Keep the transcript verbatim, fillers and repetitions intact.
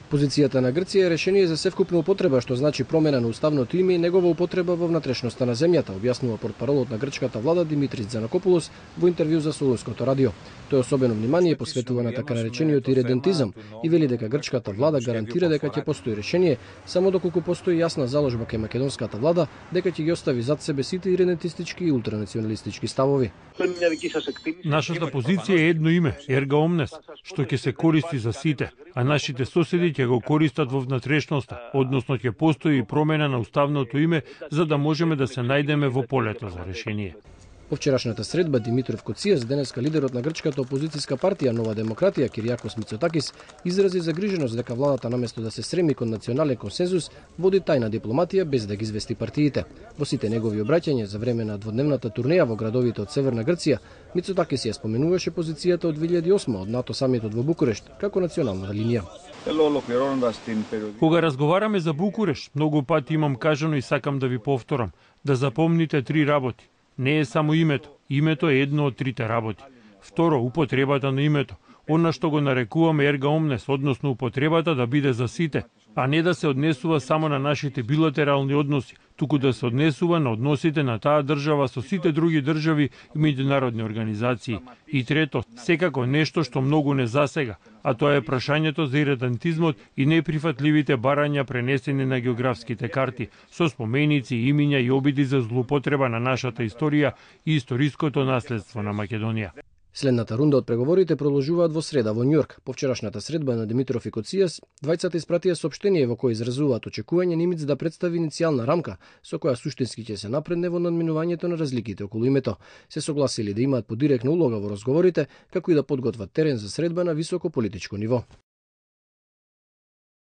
Позицијата на Грција е решение за севкупна употреба, што значи промена на уставното име и негова употреба во внатрешноста на земјата, објаснува портпаролот на грчката влада Димитрис Дзанакопулос во интервју за Солунското радио. Тој особено внимание посветува на така наречениот иридентизам и вели дека грчката влада гарантира дека ќе постои решение само доколку постои јасна заложба кај македонската влада дека ќе ги остави зад себе сите иридентистички и ултранационалистички ставови. Нашата позиција е едно име, Ерга Омнес, што ќе се користи за сите, а нашите соседи ќе го користат во внатрешноста, односно ќе постои промена на уставното име за да можеме да се најдеме во полето за решение. По вчерашната средба Димитров Коцијас, денеска лидерот на грчката опозицијска партија Нова демократија Киријакос Мицотакис, изрази загриженост дека владата наместо да се стреми кон национален консензус, води тајна дипломатија без да ги извести партиите. Во сите негови обраќања за време на дводневната турнеја во градовите од Северна Грција, Мицотакис ја споменуваше позицијата од две илјади и осма од НАТО самитот во Букурешт како национална линија. Кога разговараме за Букурешт, многу пати имам кажано и сакам да ви повторам, да запомните три работи. Не е само името. Името е едно од трите работи. Второ, употребата на името. Она што го нарекуваме ерга омнес, односно употребата да биде за сите, а не да се однесува само на нашите билатерални односи, туку да се однесува на односите на таа држава со сите други држави и меѓународни организации. И трето, секако нешто што многу не засега, а тоа е прашањето за иридентизмот и неприфатливите барања пренесени на географските карти, со споменици, имиња и обиди за злоупотреба на нашата историја и историското наследство на Македонија. Следната рунда од преговорите продолжуваат во среда во Њујорк. По вчерашната средба на Димитров и Коцијас, двајцата испратија соопштение во кое изразуваат очекување Нимиц да представи иницијална рамка со која суштински ќе се напредне во надминувањето на разликите околу името. Се согласили да имаат подиректна улога во разговорите, како и да подготват терен за средба на високо политичко ниво.